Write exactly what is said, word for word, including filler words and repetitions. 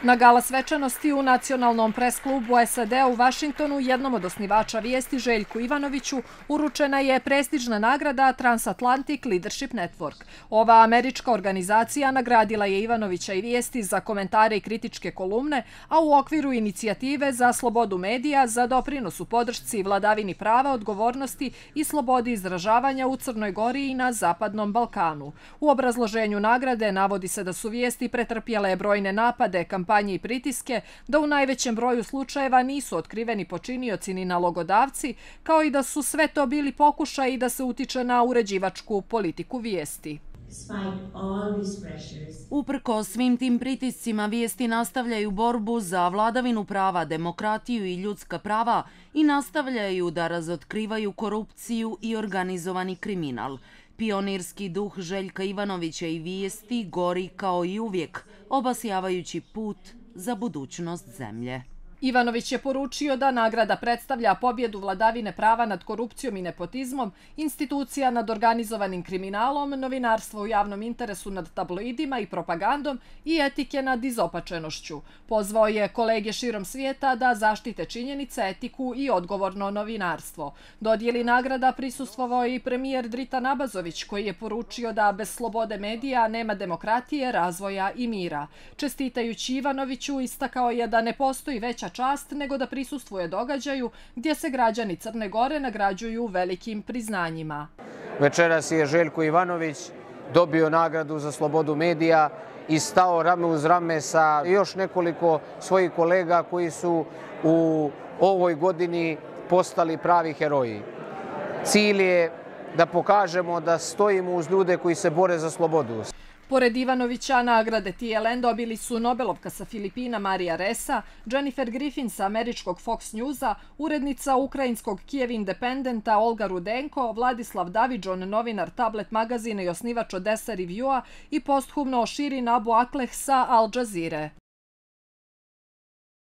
Na gala svečanosti u Nacionalnom pres-klubu S A D-a u Vašingtonu jednom od osnivača vijesti Željku Ivanoviću uručena je prestižna nagrada Transatlantic Leadership Network. Ova američka organizacija nagradila je Ivanovića i vijesti za komentare i kritičke kolumne, a u okviru inicijative za slobodu medija za doprinos u podršci vladavini prava, odgovornosti i slobodi izražavanja u Crnoj Gori i na Zapadnom Balkanu. U obrazloženju nagrade navodi se da su vijesti pretrpjele brojne napade, kampanje i pritiske, da u najvećem broju slučajeva nisu otkriveni počinioci ni nalogodavci, kao i da su sve to bili pokušaji da se utiče na uređivačku politiku vijesti. Uprko svim tim pritiscima, vijesti nastavljaju borbu za vladavinu prava, demokratiju i ljudska prava i nastavljaju da razotkrivaju korupciju i organizovani kriminal. Pionirski duh Željka Ivanovića i vijesti gori kao i uvijek, obasjavajući put za budućnost zemlje. Ivanović je poručio da nagrada predstavlja pobjedu vladavine prava nad korupcijom i nepotizmom, institucija nad organizovanim kriminalom, novinarstvo u javnom interesu nad tabloidima i propagandom i etike nad izopačenošću. Pozvao je kolege širom svijeta da zaštite činjenice, etiku i odgovorno novinarstvo. Dodjeli nagrada prisustvovao i premijer Dritan Abazović, koji je poručio da bez slobode medija nema demokratije, razvoja i mira. Čestitajući Ivanoviću, istakao je da ne postoji veća čast nego da prisustvuje događaju gdje se građani Crne Gore nagrađuju velikim priznanjima. Večeras je Željko Ivanović dobio nagradu za slobodu medija i stao rame uz rame sa još nekoliko svojih kolega koji su u ovoj godini postali pravi heroji. Cilj je da pokažemo da stojimo uz ljude koji se bore za slobodu. Pored Ivanovića, nagrade T L N dobili su Nobelovka sa Filipina Marija Ressa, Jennifer Griffin sa američkog Fox Newsa, urednica ukrajinskog Kijev Independenta Olga Rudenko, Vladislav Davidžon, novinar Tablet magazina i osnivač Odessa Reviewa i posthumno Širin Abu Akleh sa Al Jazeere.